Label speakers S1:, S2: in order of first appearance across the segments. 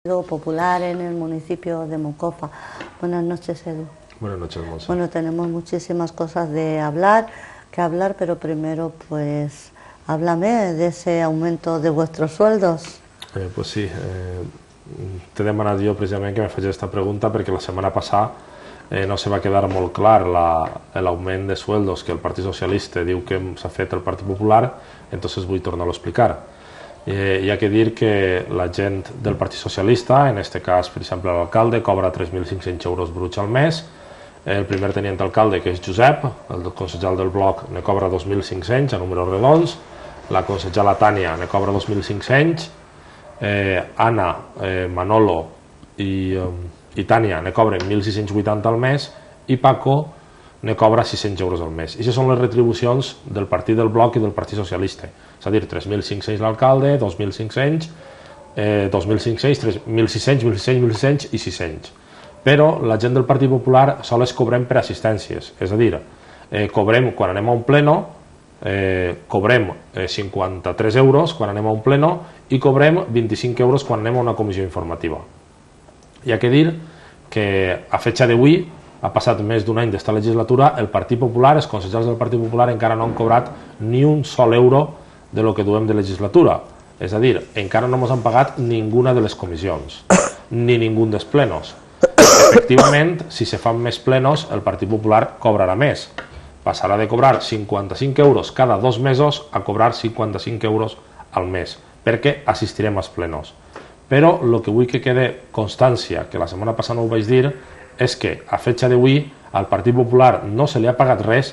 S1: Popular en el municipio de Moncofa. Buenas noches, Edu.
S2: Buenas noches, Monse.
S1: Bueno, tenemos muchísimas cosas que hablar, pero primero, pues, háblame de ese aumento de vuestros sueldos.
S2: Pues sí, t'he demanat jo precisament que me facis esta pregunta perquè la setmana passada no se va quedar molt clar l'augment de sueldos que el Partit Socialista diu que s'ha fet el Partit Popular, entonces vull tornar-lo a explicar. Hi ha que dir que la gent del Partit Socialista, en aquest cas, per exemple, l'alcalde, cobra 3.500 euros bruts al mes, el primer tenient d'alcalde, que és Josep, el concejal del bloc, ne cobra 2.500 a números redons, la concejala Tània ne cobra 2.500, Anna, Manolo i Tània ne cobren 1.680 al mes i Paco ne cobra 600 euros al mes. I aquestes són les retribucions del partit del bloc i del Partit Socialista. És a dir, 3.500 l'alcalde, 2.500, 2.500, 1.600, 1.600 i 600. Però la gent del Partit Popular sols cobrem per assistències. És a dir, cobrem quan anem a un pleno, cobrem 53 euros quan anem a un pleno i cobrem 25 euros quan anem a una comissió informativa. Hi ha que dir que a fecha d'avui ha passat més d'un any d'esta legislatura, el Partit Popular, els consellers del Partit Popular encara no han cobrat ni un sol euro de lo que duem de legislatura. És a dir, encara no ens han pagat ninguna de les comissions, ni ningú dels plenos. Efectivament, si se fan més plenos, el Partit Popular cobrarà més. Passarà de cobrar 55 euros cada 2 mesos a cobrar 55 euros al mes, perquè assistirem als plenos. Però el que vull que quede constància, que la setmana passada no ho vaig dir, és que a fecha d'avui al Partit Popular no se li ha pagat res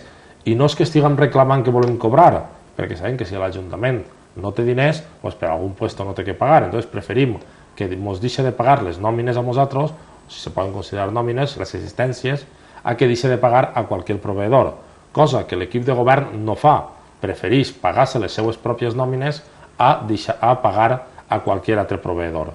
S2: i no és que estiguem reclamant que volem cobrar, perquè sabem que si l'Ajuntament no té diners, doncs per algun puesto no té que pagar, entonces preferim que ens deixi de pagar les nòmines a nosaltres, si se poden considerar nòmines, les assistències, a que deixi de pagar a qualsevol proveïdor, cosa que l'equip de govern no fa, prefereix pagar-se les seues pròpies nòmines a pagar a qualsevol altre proveïdor.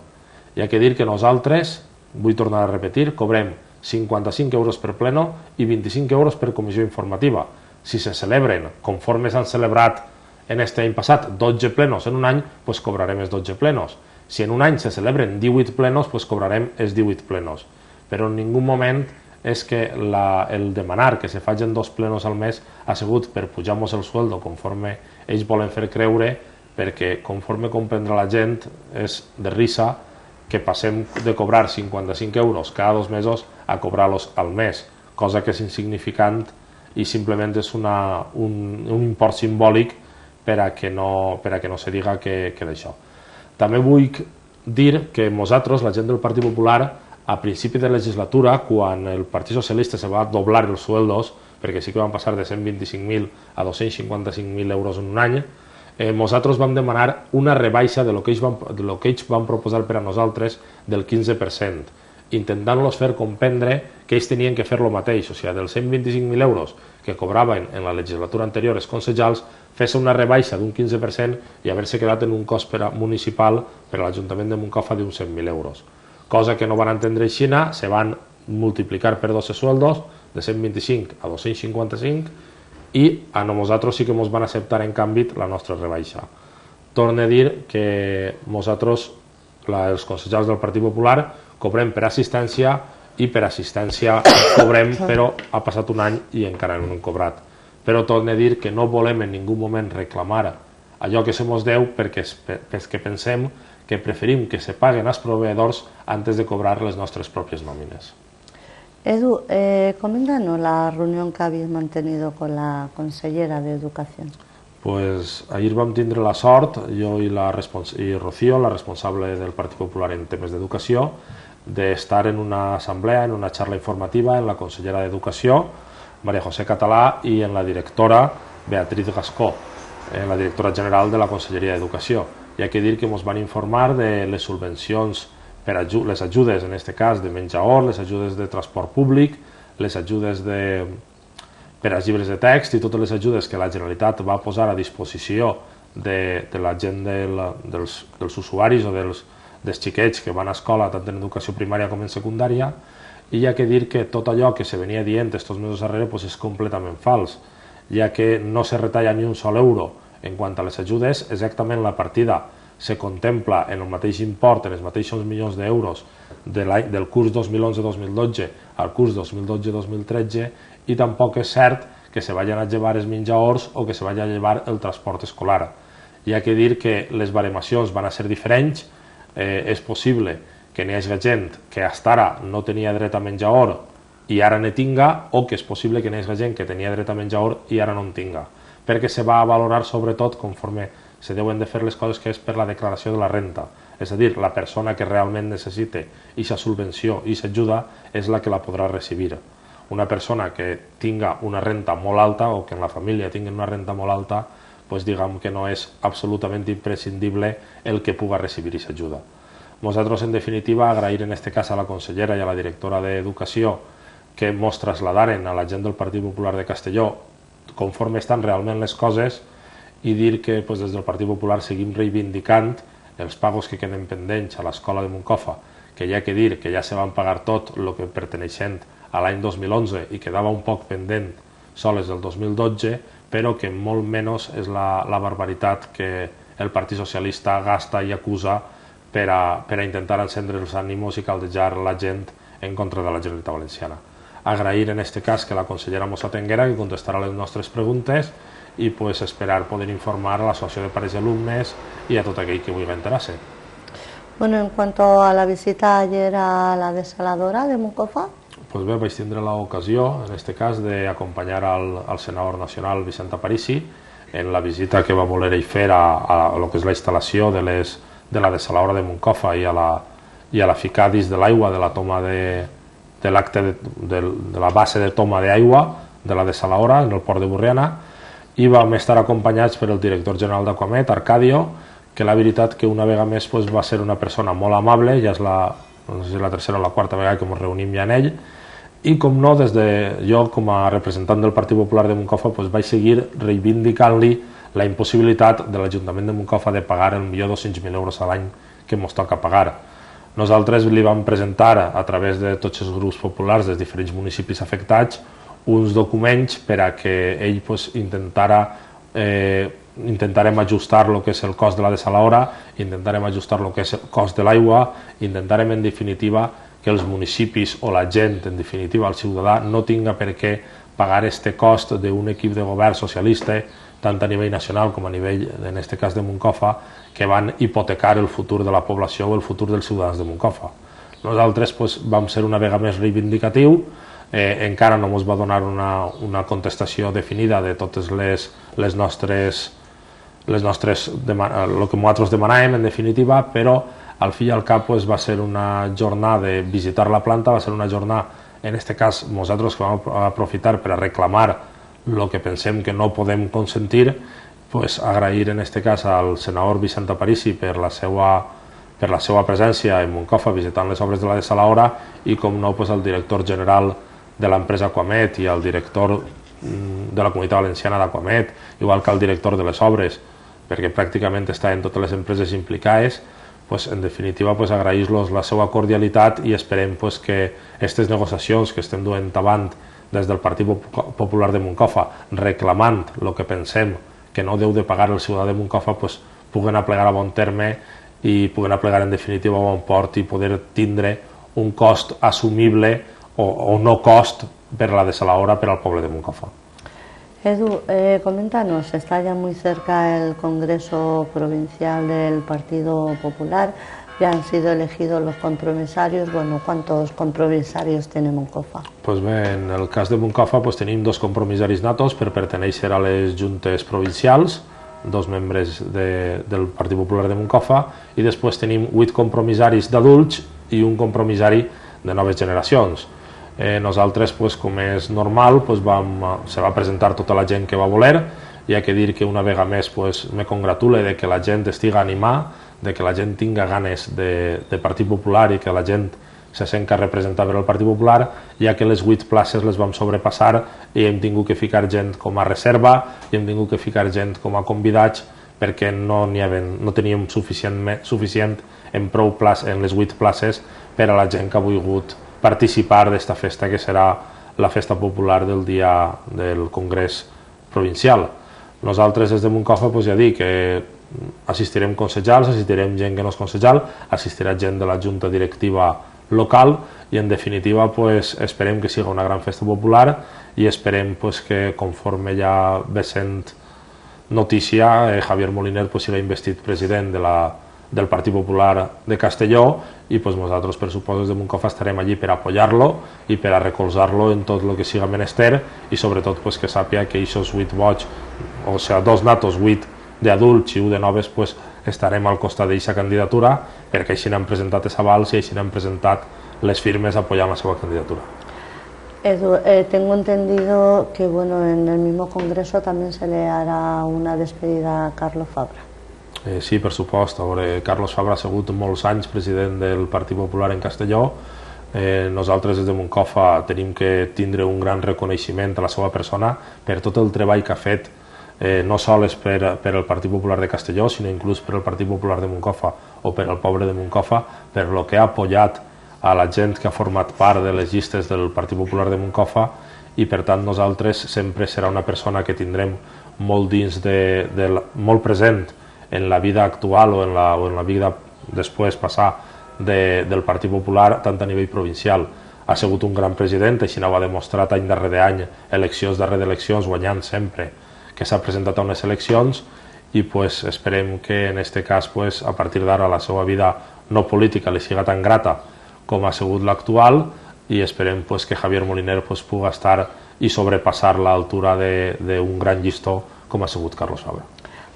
S2: Hi ha que dir que nosaltres, vull tornar a repetir, cobrem 55 euros per pleno i 25 euros per comissió informativa. Si se celebren, conforme s'han celebrat en aquest any passat, 12 plenos en un any, doncs cobrarem els 12 plenos. Si en un any se celebren 18 plenos, doncs cobrarem els 18 plenos. Però en ningú moment és que el demanar que se facin 2 plenos al mes ha sigut per pujar-nos el sueldo conforme ells volen fer creure, perquè conforme comprendrà la gent és de risa que passem de cobrar 55 euros cada 2 mesos a cobrar-los al mes, cosa que és insignificant i simplement és un import simbòlic per a que no se diga que d'això. També vull dir que nosaltres, la gent del Partit Popular, a principi de legislatura, quan el Partit Socialista se va doblar els sueldos, perquè sí que van passar de 125.000 a 255.000 euros en un any, nosaltres vam demanar una rebaixa de lo que ells van proposar per a nosaltres del 15%, intentant-los fer comprendre que ells tenien que fer el mateix, o sigui, dels 125.000 euros que cobraven en la legislatura anterior els consellals, fer-se una rebaixa d'un 15% i haver-se quedat en un cost municipal per a l'Ajuntament de Moncofa d'uns 100.000 euros. Cosa que no van entendre així, se van multiplicar per 12 sueldos, de 125 a 255, i a nosaltres sí que ens van acceptar en canvi la nostra rebaixa. Torno a dir que nosaltres, els consellers del Partit Popular, cobrem per assistència i per assistència cobrem, però ha passat un any i encara no hem cobrat. Però torno a dir que no volem en ningú moment reclamar allò que se ens deu perquè pensem que preferim que se paguen als proveïdors antes de cobrar les nostres pròpies nòmines.
S1: Edu, coméntanos la reunión que habéis mantenido con la consellera de Educación.
S2: Pues ahir vam tindre la sort, jo i Rocío, la responsable del Partit Popular en temes d'educació, d'estar en una assemblea, en una xarxa informativa, en la consellera d'Educació, Maria José Català, i en la directora Beatriz Gascó, la directora general de la Conselleria d'Educació. Hi ha que dir que ens van informar de les subvencions, les ajudes, en aquest cas, de menjador, les ajudes de transport públic, les ajudes per als llibres de text i totes les ajudes que la Generalitat va posar a disposició de la gent dels usuaris o dels xiquets que van a escola tant en educació primària com en secundària, i hi ha que dir que tot allò que se venia dient estos mesos darrere és completament fals, ja que no se retalla ni un sol euro en quant a les ajudes, exactament la partida se contempla en el mateix import, en els mateixos milions d'euros del curs 2011-2012 al curs 2012-2013, i tampoc és cert que se vagin a llevar els menjadors o que se vagi a llevar el transport escolar. Hi ha que dir que les baremacions van a ser diferents. És possible que n'hi hagi gent que fins ara no tenia dret a menjador i ara ne tinga, o que és possible que n'hi hagi gent que tenia dret a menjador i ara no en tinga, perquè se va a valorar sobretot conforme se deuen de fer les coses, que és per la declaració de la renta. És a dir, la persona que realment necessite aquesta subvenció i aquesta ajuda és la que la podrà recibir. Una persona que tinga una renta molt alta o que en la família tingui una renta molt alta, doncs diguem que no és absolutament imprescindible el que pugui recibir aquesta ajuda. Nosaltres, en definitiva, agrair en aquest cas a la consellera i a la directora d'Educació que mos traslladaren a la gent del Partit Popular de Castelló conforme estan realment les coses, i dir que des del Partit Popular seguim reivindicant els pagos que queden pendents a l'escola de Moncofa, que hi ha que dir que ja se van pagar tot el que perteneixent a l'any 2011 i quedava un poc pendent soles del 2012, però que molt menys és la barbaritat que el Partit Socialista gasta i acusa per a intentar encendre els ànimos i caldejar la gent en contra de la Generalitat Valenciana. Agrair en aquest cas que la consellera mos atenguera, que contestarà les nostres preguntes, i esperar poder informar a l'Associació de Pares i Alumnes y a tot aquell que vulgui enterar-se.
S1: Bueno, en cuanto a la visita ayer a la desaladora de Moncofa.
S2: Pues bé, vaig tindre l'ocasió, en aquest cas, d'acompanyar al senador nacional Vicent Aparici en la visita que va voler ell fer a lo que és la instal·lació de la desaladora de Moncofa i a la ficar dins de l'aigua de la toma de la base de toma d'aigua de la desaladora en el port de Borriana, i vam estar acompanyats per el director general d'Aquamet, Arcadio, que la veritat que una vegada més va ser una persona molt amable, ja és la tercera o la quarta vegada que ens reunim ja en ell, i com no, des de jo com a representant del Partit Popular de Moncofa vaig seguir reivindicant-li la impossibilitat de l'Ajuntament de Moncofa de pagar el millor 200.000 euros a l'any que ens toca pagar. Nosaltres li vam presentar a través de tots els grups populars dels diferents municipis afectats uns documents per a que ell intentarem ajustar el que és el cost de la desaladora, intentarem ajustar el que és el cost de l'aigua, intentarem en definitiva que els municipis o la gent, en definitiva el ciutadà, no tinga per què pagar aquest cost d'un equip de govern socialista, tant a nivell nacional com a nivell, en aquest cas de Moncofa, que van hipotecar el futur de la població o el futur dels ciutadans de Moncofa. Nosaltres vam ser una vegada més reivindicatiu, encara no ens va donar una contestació definida de totes les nostres el que nosaltres demanàvem, en definitiva, però al fi i al cap va ser una jornada de visitar la planta, va ser una jornada, en aquest cas nosaltres que vam aprofitar per a reclamar el que pensem que no podem consentir, agrair en aquest cas al senador Vicent Aparici per la seva presència en Moncofa visitant les obres de la desaladora i, com no, al director general de l'empresa Aquamet i al director de la Comunitat Valenciana d'Aquamet, igual que al director de les obres, perquè pràcticament està en totes les empreses implicades. En definitiva, agrair-los la seva cordialitat i esperem que aquestes negociacions que estem duent avant des del Partit Popular de Moncofa, reclamant el que pensem que no deu de pagar el ciutadà de Moncofa, puguen aplegar a bon terme i puguen aplegar en definitiva a bon port i poder tindre un cost assumible o no cost per la desaladora per al poble de Moncofa.
S1: Edu, coméntanos, está ya muy cerca el Congreso Provincial del Partido Popular, ya han sido elegidos los compromisarios. Bueno, ¿cuántos compromisarios tiene Moncofa? Pues
S2: bé, en el cas de Moncofa tenim 2 compromissaris natos per pertenèixer a les juntes provincials, 2 membres del Partit Popular de Moncofa, i després tenim 8 compromissaris d'adults i un compromissari de noves generacions. Nosaltres, com és normal, se va presentar tota la gent que va voler. Hi ha que dir que una vegada més me congratule de que la gent estigui animada, de que la gent tinga ganes de Partit Popular i que la gent se senta representada per el Partit Popular, ja que les 8 places les vam sobrepassar i hem tingut que ficar gent com a reserva i hem tingut que ficar gent com a convidats perquè no teníem suficient en prou places, en les 8 places, per a la gent que ha volgut participar d'esta festa que serà la festa popular del dia del Congrés Provincial. Nosaltres des de Moncofa ja dic que assistirem consellers, assistirem gent que no és consellal, assistirà gent de la junta directiva local i en definitiva pues, esperem que sigui una gran festa popular i esperem pues, que conforme ja ve sent notícia Javier Moliner pues, sigui investit president del Partit Popular de Castelló i pues, nosaltres per suposo de Moncofa estarem allí per apoyar-lo i per a recolzar-lo en tot el que siga menester i sobretot pues, que sàpia que aquests 8 vots, o sigui 2 natos, 8 d'adults i 1 de noves pues, estarem al costat d'aquesta candidatura perquè així n'han presentat els avals i així n'han presentat les firmes apoyant la seva candidatura.
S1: Edu, tengo entendido que bueno, en el mismo congreso también se le hará una despedida a Carlos Fabra.
S2: Sí, per supost. Carlos Fabra ha sigut molts anys president del Partit Popular en Castelló. Nosaltres des de Moncofa tenim que tindre un gran reconeixement a la seva persona per tot el treball que ha fet no sols per al Partit Popular de Castelló, sinó inclús per al Partit Popular de Moncofa o per al poble de Moncofa, per lo que ha apoyat a la gent que ha format part de les llistes del Partit Popular de Moncofa i per tant nosaltres sempre serà una persona que tindrem molt dins molt present en la vida actual o en la vida després passar del Partit Popular tant a nivell provincial. Ha sigut un gran president, així ho ha demostrat any darrere any, eleccions darrere eleccions, guanyant sempre que s'ha presentat a unes eleccions i pues, esperem que en aquest cas pues, a partir d'ara la seva vida no política li siga tan grata com ha sigut l'actual i esperem pues, que Javier Moliner pues, pugui estar i sobrepassar l'altura d'un gran llistó com ha sigut Carlos Fabra.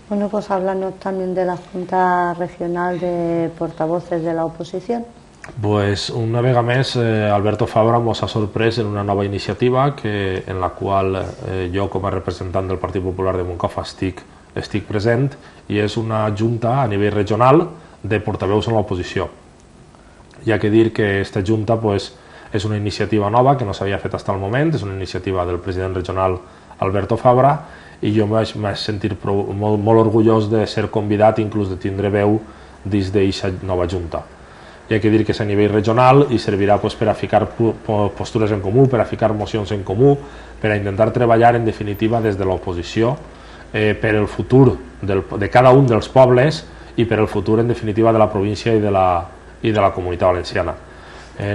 S1: Bueno, pues háblanos también de la Junta Regional de Portavoces de la Oposición.
S2: Pues una vegada més Alberto Fabra ens ha sorprès en una nova iniciativa en la qual jo com a representant del Partit Popular de Moncofa estic present i és una junta a nivell regional de portaveus en l'oposició. Hi ha que dir que aquesta junta pues, és una iniciativa nova que no s'havia fet fins al moment, és una iniciativa del president regional Alberto Fabra i jo m'he sentit molt orgullós de ser convidat i inclús de tindre veu dins d'aquesta nova junta. Hi ha que dir que és a nivell regional i servirà pues, per a ficar postures en comú, per a ficar mocions en comú, per a intentar treballar en definitiva des de l'oposició per el futur de cada un dels pobles i per el futur en definitiva de la província i de la comunitat valenciana.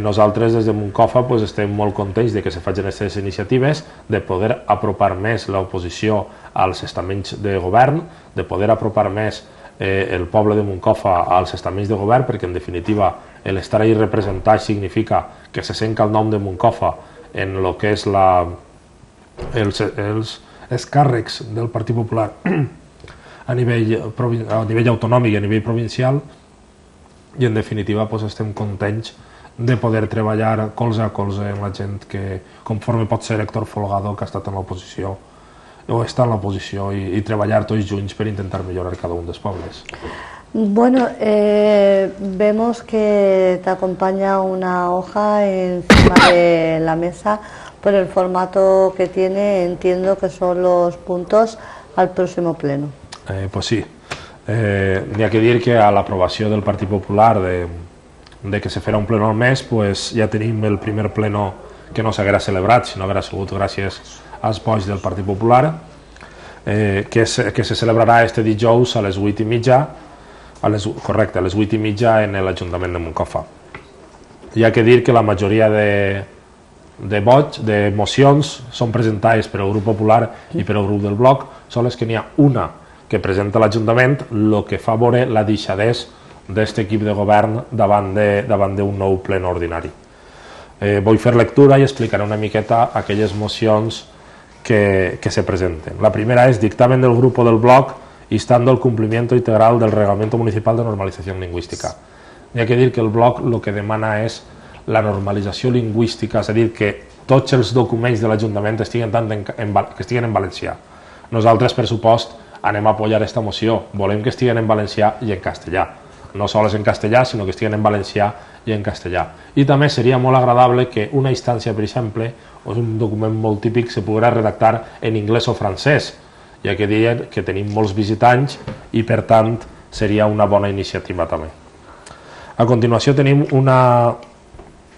S2: Nosaltres des de Moncofa pues, estem molt contents de que se facin aquestes iniciatives, de poder apropar més l'oposició als estaments de govern, de poder apropar més el poble de Moncofa als estaments de govern, perquè en definitiva l'estar ahí representat significa que se sent el nom de Moncofa en el que és els càrrecs del Partit Popular a nivell autonòmic i a nivell provincial i en definitiva pues, estem contents de poder treballar colze a colze amb la gent que conforme pot ser Héctor Folgado que ha estat en l'oposició o està en l'oposició i treballar tots junts per intentar millorar cada un dels pobles.
S1: Bueno, vemos que te acompaña una hoja encima de la mesa por el formato que tiene, entiendo que son los puntos al próximo pleno.
S2: Pues sí, hi ha que dir que a l'aprovació del Partit Popular de que se farà un pleno al mes, pues ja tenim el primer pleno que no s'haguera celebrat, sinó haguera sigut gràcies als vots del Partit Popular, que se celebrarà este dijous a les 8:30, correcte, a les 8:30 en l'Ajuntament de Moncofa. Hi ha que dir que la majoria de vots, de mocions, són presentades per al grup popular i per al grup del bloc, sols que n'hi ha una que presenta l'Ajuntament, el que fa veure la deixadesa d'aquest equip de govern davant d'un nou ple ordinari. Vull fer lectura i explicaré una miqueta aquelles mocions que se presenten. La primera és dictamen del grupo del bloc instando el cumplimiento integral del Reglamento Municipal de Normalización Lingüística. Hi ha que dir que el bloc el que demana és la normalització lingüística, és a dir, que tots els documents de l'Ajuntament estiguin en valencià. Nosaltres, per supost, anem a apoyar aquesta moció. Volem que estiguen en valencià i en castellà. No sols en castellà, sinó que estiguen en valencià i en castellà. I també seria molt agradable que una instància, per exemple, o un document molt típic, se poguera redactar en anglès o francès, ja que dir que tenim molts visitants i, per tant, seria una bona iniciativa també. A continuació tenim una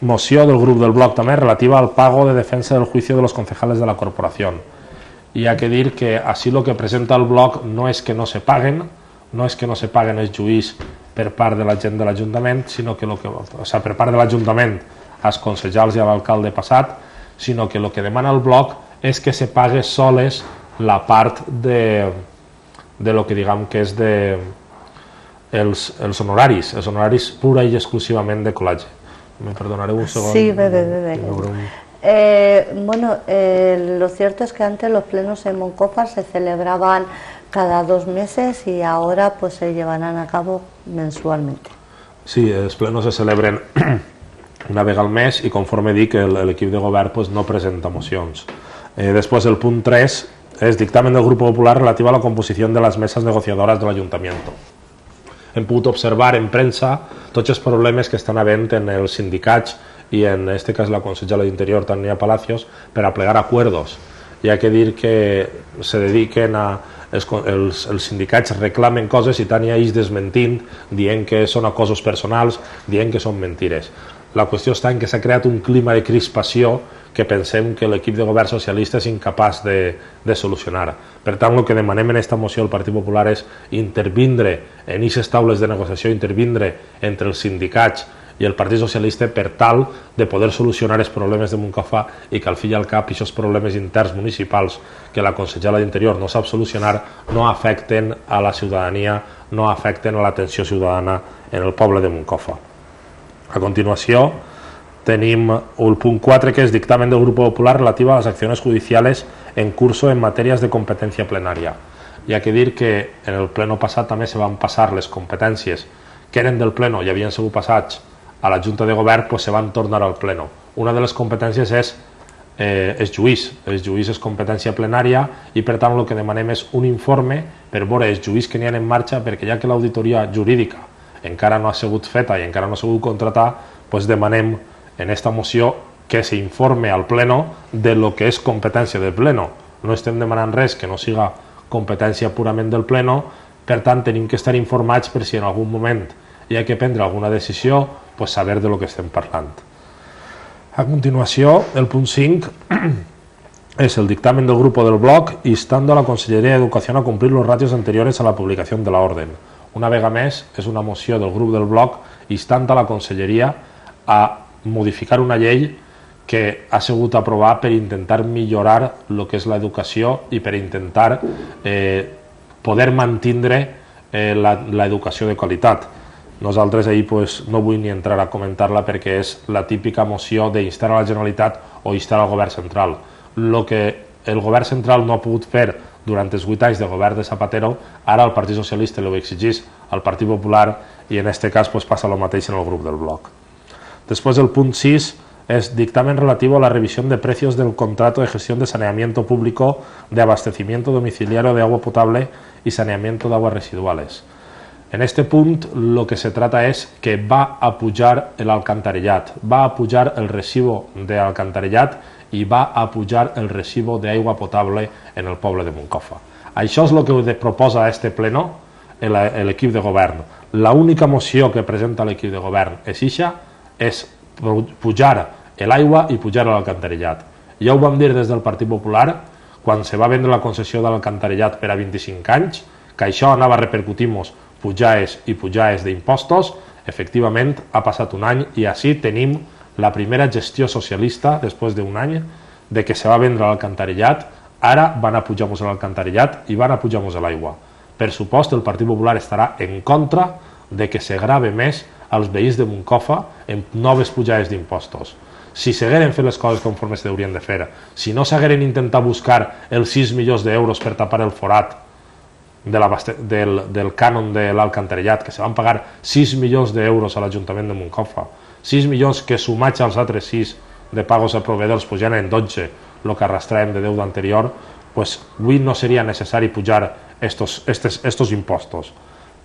S2: moció del grup del bloc també relativa al pago de defensa del juicio de los concejales de la corporación. Y hay que dir que así lo que presenta el bloc no es que no se paguen no és que no se paguen els juís per part de la gent de l'Ajuntament, sinó que, per part de l'Ajuntament als concejals i a l'alcalde passat, sinó que el que demana el bloc és que se pague soles la part de lo que diguem que és els honoraris pura i exclusivament de col·legi. Me perdonaré un segon.
S1: Sí, bueno, lo cierto es que antes los plenos en Moncofa se celebraban cada 2 meses y ahora pues se llevarán a cabo mensualmente.
S2: Sí, els plenos se celebren una vegada al mes i conforme dic l'equip de govern pues, no presenta mocions. Després el punt 3 és dictamen del Grupo Popular relatiu a la composició de les meses negociadores de l'Ajuntament. Hem pogut observar en premsa tots els problemes que estan havent en els sindicats i en aquest cas la consellera d'Interior, Tania Palacios, per a plegar acuerdos. Hi ha que dir que se dediquen a... Els sindicats reclamen coses i Tania és desmentint, dient que són acosos personals, dient que són mentires. La qüestió està en que s'ha creat un clima de crispació que pensem que l'equip de govern socialista és incapaç de solucionar. Per tant, el que demanem en aquesta moció del Partit Popular és intervindre en aquestes taules de negociació, intervindre entre els sindicats i el Partit Socialista per tal de poder solucionar els problemes de Moncofa i que al fi i al cap aquests problemes interns municipals que la consellera d'Interior no sap solucionar no afecten a la ciutadania, no afecten a l'atenció ciutadana en el poble de Moncofa. A continuació tenim el punt 4 que és dictamen del Grupo Popular relatiu a les accions judicials en curso en matèries de competència plenària. Hi ha que dir que en el pleno passat també se van passar les competències que eren del pleno i havien sigut passats a la Junta de Govern, pues se van tornar al pleno. Una de les competències és els juís. Els juís és competència plenària i per tant el que demanem és un informe per veure els juís que n'hi ha en marxa, perquè ja que l'auditoria jurídica encara no ha sigut feta i encara no ha sigut contratada, pues demanem en aquesta moció que s'informe al pleno de lo que és competència del pleno. No estem demanant res que no siga competència purament del pleno, per tant tenim que estar informats per si en algun moment hi ha que prendre alguna decisió, pues saber de lo que estem parlant. A continuació, el punt 5 es el dictamen del Grupo del Bloc instando a la Conselleria d'Educació a cumplir los ratios anteriores a la publicació de la orden. Una vegada més, és una moció del grup del Bloc instant a la Conselleria a modificar una llei que ha sigut aprovat per intentar millorar el que és l'educació i per intentar poder mantindre l'educació de qualitat. Nosaltres ahir no vull ni entrar a comentar-la perquè és la típica moció d'instar a la Generalitat o instar al govern central. El que el govern central no ha pogut fer durant els 8 anys de govern de Zapatero, ara el Partit Socialista ho exigís al Partit Popular i en aquest cas passa el mateix en el grup del Bloc. Després el punt 6 es dictamen relativo a la revisión de precios del contrato de gestión de saneamiento público de abastecimiento domiciliario de agua potable y saneamiento de aguas residuales. En este punt lo que se trata es que va a pujar el alcantarellat, va a pujar el recibo de alcantarellat i va a pujar el recibo d'aigua potable en el poble de Moncofa. Això és el que proposa este pleno l'equip de govern. L'única moció que presenta l'equip de govern és ixa, és pujar l'aigua i pujar l'alcantarellat. Ja ho vam dir des del Partit Popular quan se va vendre la concessió de l'alcantarellat per a 25 anys, que això anava a repercutir-nos pujades i pujades d'impostos. Efectivament, ha passat un any i així tenim la primera gestió socialista, després d'un any, de que se va vendre l'alcantarellat, ara van a pujar-nos l'alcantarellat i van a pujar-nos l'aigua. Per supost, el Partit Popular estarà en contra de que se grave més als veïns de Moncofa en noves pujades d'impostos. Si s'hagueren fet les coses conforme s'haurien de fer, si no s'hagueren intentat buscar els 6 milions d'euros per tapar el forat del cànon de l'alcantarellat, que se van pagar 6 milions d'euros a l'Ajuntament de Moncofa, 6 milions que sumats als altres 6 de pagos a proveedors ja en 12, el que arrastràvem de 10 d'anterior, avui no seria necessari pujar estos impostos.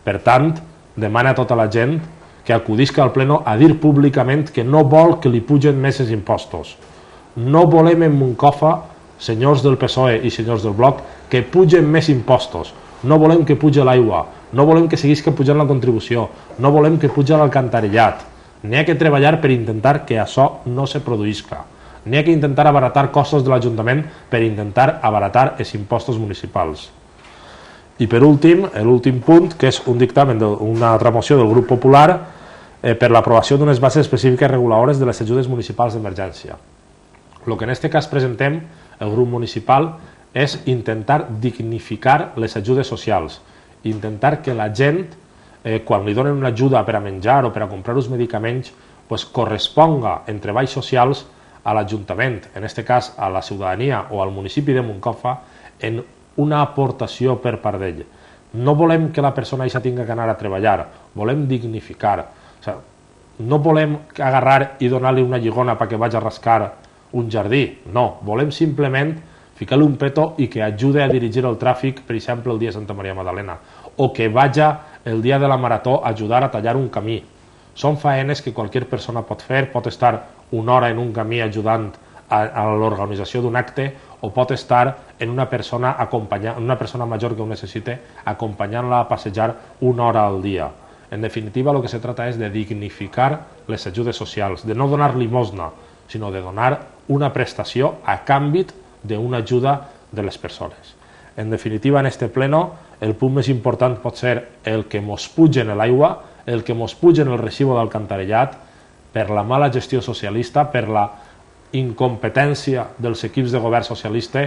S2: Per tant, demana a tota la gent que acudisca al pleno a dir públicament que no vol que li pugen més els impostos. No volem en Moncofa, senyors del PSOE i senyors del Bloc, que pugen més impostos. No volem que pugi l'aigua, no volem que seguisca pujant la contribució, no volem que pugi l'alcantarellat. N'hi ha que treballar per intentar que això no se produïsca. N'hi ha que intentar abaratar costos de l'Ajuntament per intentar abaratar els impostos municipals. I per últim, l'últim punt, que és un dictamen d'una altra moció del grup popular per l'aprovació d'unes bases específiques reguladores de les ajudes municipals d'emergència. El que en aquest cas presentem, el grup municipal, és intentar dignificar les ajudes socials, intentar que la gent, quan li donen una ajuda per a menjar o per a comprar uns medicaments, corresponga en treballs socials a l'Ajuntament, en aquest cas a la ciutadania o al municipi de Moncofa, en una aportació per part d'ell. No volem que la persona això tingui que anar a treballar, volem dignificar. No volem agarrar i donar-li una lligona perquè vagi a rascar un jardí, no, volem simplement ficar-li un petó i que ajude a dirigir el tràfic, per exemple, el dia de Santa Maria Magdalena, o que vagi el dia de la marató a ajudar a tallar un camí. Són faenes que qualsevol persona pot fer, pot estar una hora en un camí ajudant a l'organització d'un acte o pot estar en una persona major que ho necessite acompanyant-la a passejar una hora al dia. En definitiva, el que se trata és de dignificar les ajudes socials, de no donar limosna, sinó de donar una prestació a canvi d'una ajuda de les persones. En definitiva, en este pleno, el punt més important pot ser el que mos pugen l'aigua, el que mos pugen el recibo d'alcantarellat, per la mala gestió socialista, per la incompetència dels equips de govern socialista,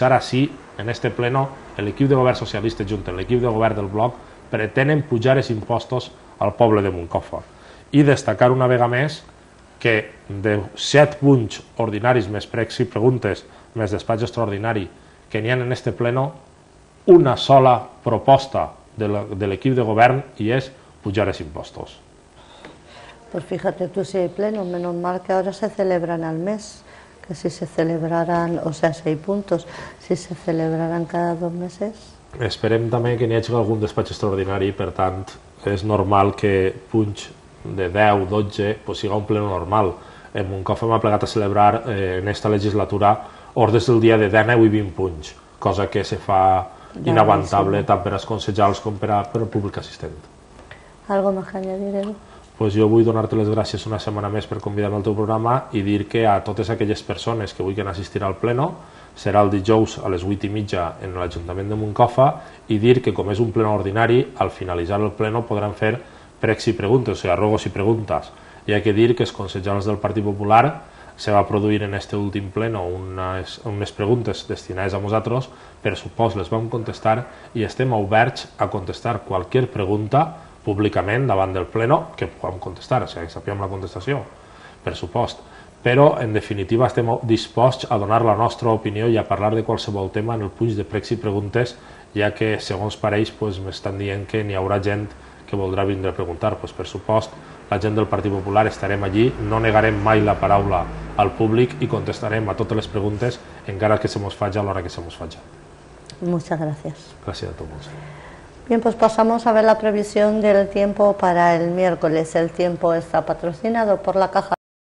S2: ara sí, en este pleno, l'equip de govern socialista junt amb l'equip de govern del bloc pretenen pujar els impostos al poble de Moncofa. I destacar una vegada més que de 7 punts ordinaris més pregs i preguntes més despatx extraordinari que n'hi ha en este pleno, una sola proposta de l'equip de govern i és pujar els impostos.
S1: Pues fíjate tú si hay pleno, menos mal que ahora se celebran al mes, que si se celebraran, o sea, 6 puntos, si se celebraran cada 2 meses.
S2: Esperem també que n'hi hagi algun despatx extraordinari, per tant, és normal que punts de 10, 12, sigui un pleno normal. En Moncofa m'ha plegat a celebrar en aquesta legislatura ordres del dia de 19 i 20 punts, cosa que se fa inaguantable tant per als consellers com per al públic assistent.
S1: ¿Algo más que añadir, Edu?
S2: Pues jo vull donar-te les gràcies una setmana més per convidar-me al teu programa i dir que a totes aquelles persones que vulguin assistir al pleno serà el dijous a les 8:30 en l'Ajuntament de Moncofa i dir que com és un pleno ordinari, al finalitzar el pleno podran fer pregs i preguntes, o sigui, rogos i preguntes. Hi ha que dir que els consellers del Partit Popular se va produir en este últim pleno unes preguntes destinades a nosaltres, per supost les vam contestar i estem oberts a contestar qualsevol pregunta públicament davant del pleno que puguem contestar, o sigui, que sapiguem la contestació, per supost. Però, en definitiva, estem disposats a donar la nostra opinió i a parlar de qualsevol tema en el punt de pregs i preguntes, ja que, segons pareix, m'estan dient que n'hi haurà gent que voldrà vindre a preguntar. Per supost, la gent del Partit Popular estarem allí, no negarem mai la paraula al públic i contestarem a totes les preguntes, encara que se mos faci a l'hora que se mos faci.
S1: Muchas gracias.
S2: Gràcies a tots.
S1: Bien, pues pasamos a ver la previsión del tiempo para el miércoles. El tiempo está patrocinado por la Caja